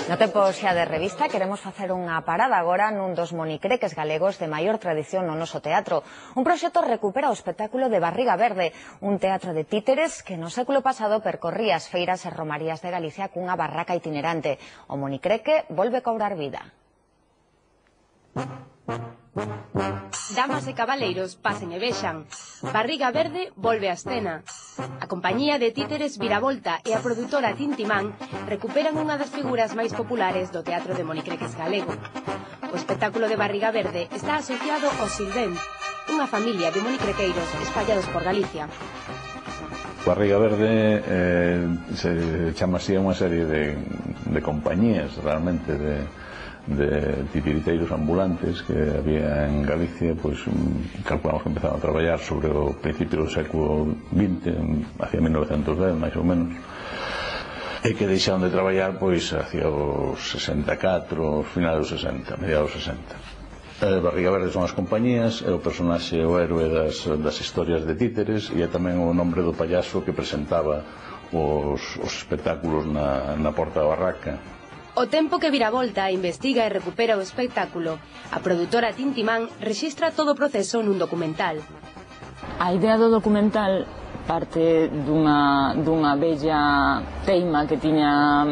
No tempo xa de revista queremos facer unha parada agora nun dos monicreques galegos de maior tradición no noso teatro. Un proxecto recupera o espectáculo de Barriga Verde, un teatro de títeres que no século pasado percorría as feiras e romarías de Galicia cunha barraca itinerante. O monicreque volve cobrar vida. Damas e cabaleiros, pasen e vexan. Barriga Verde volve á escena. A compañía de títeres Viravolta e a produtora Tintimán recuperan unha das figuras máis populares do teatro de monicreques galego. O espectáculo de Barriga Verde está asociado ao Silvén, unha familia de monicrequeiros espallados por Galicia. Barriga Verde se chama así a unha serie de compañías realmente de titiriteiros ambulantes que había en Galicia, pois calculamos que empezaron a traballar sobre o principio do século XX, hacia 1910 máis ou menos, e que deixaron de traballar pois hacia os 64, os finais dos 60, mediados dos 60. Barriga Verde son as compañías, é o personaxe, o héroe das historias de títeres, e é tamén o nombre do payaso que presentaba os espectáculos na porta da barraca. O tempo que Viravolta investiga e recupera o espectáculo, a produtora Tintimán rexistra todo o proceso nun documental. A idea do documental parte dunha bella teima que tiña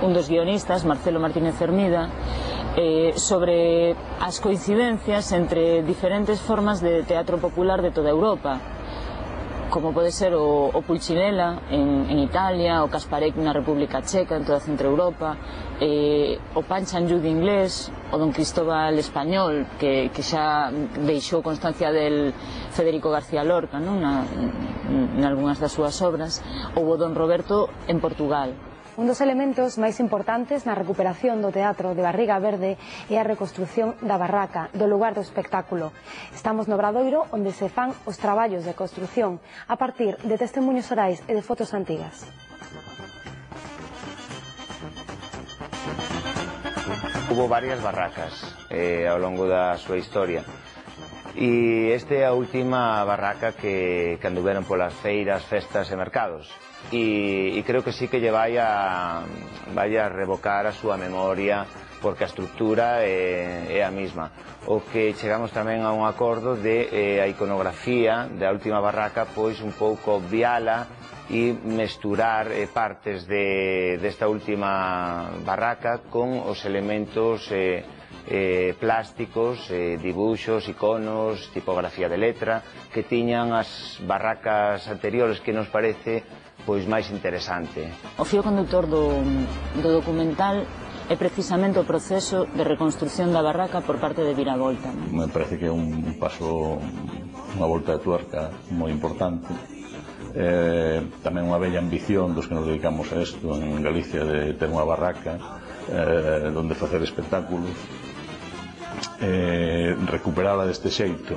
un dos guionistas, Marcelo Martínez Hermida, sobre as coincidencias entre diferentes formas de teatro popular de toda Europa, como pode ser o Pulcinella en Italia, o Kasparek na República Checa, en toda Centroeuropa, o Panchanjude inglés, o Don Cristóbal español, que xa deixou constancia del Federico García Lorca, nalgúnas das súas obras, ou o Don Roberto en Portugal. Un dos elementos máis importantes na recuperación do teatro de Barriga Verde é a reconstrución da barraca, do lugar do espectáculo. Estamos no Obradoiro, onde se fan os traballos de construción a partir de testemuños orais e de fotos antigas. Hubo varias barracas ao longo da súa historia. E esta é a última barraca que anduveron polas feiras, festas e mercados. E creo que sí que lle vai a revocar a súa memoria, porque a estrutura é a mesma. O que chegamos tamén a un acordo de a iconografía da última barraca, pois un pouco obviala e mesturar partes desta última barraca con os elementos plásticos, dibuxos, iconos, tipografía de letra que tiñan as barracas anteriores, que nos parece pois máis interesante. O fío conductor do documental é precisamente o proceso de reconstrucción da barraca por parte de Viravolta. Me parece que é un paso, unha volta de tuerca moi importante. Tamén unha bella ambición dos que nos dedicamos a isto en Galicia, de ter unha barraca donde facer espectáculos, recuperala deste xeito,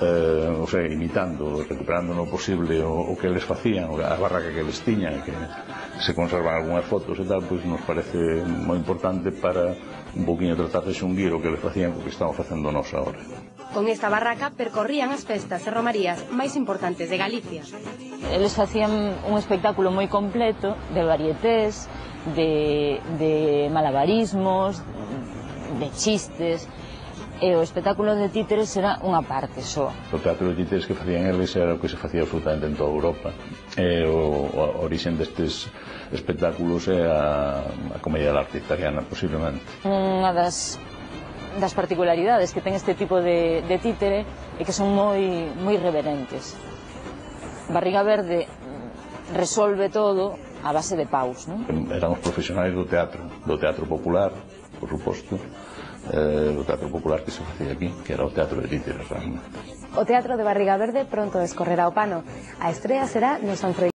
o sea, imitando, recuperando no posible o que eles facían, a barraca que eles tiñan, que se conservan algunhas fotos e tal, pois nos parece moi importante para un poquinho tratar de xunguir o que eles facían co que estamos facendo nós agora. Con esta barraca percorrían as festas e romarías máis importantes de Galicia. Eles facían un espectáculo moi completo de varietés, de malabarismos, de chistes, e o espectáculo de títeres era unha parte só. O teatro de títeres que facían eles era o que se facía absolutamente en toda Europa. A orixen destes espectáculos é a comedia de arte italiana, posiblemente. Unha das particularidades que ten este tipo de títere é que son moi reverentes. Barriga Verde resolve todo a base de paus, non? Éramos profesionais do teatro popular, por suposto, do teatro popular que se facía aquí, que era o teatro de títeres realmente. O teatro de Barriga Verde pronto descorrerá o pano. A estrea será no San Froilán.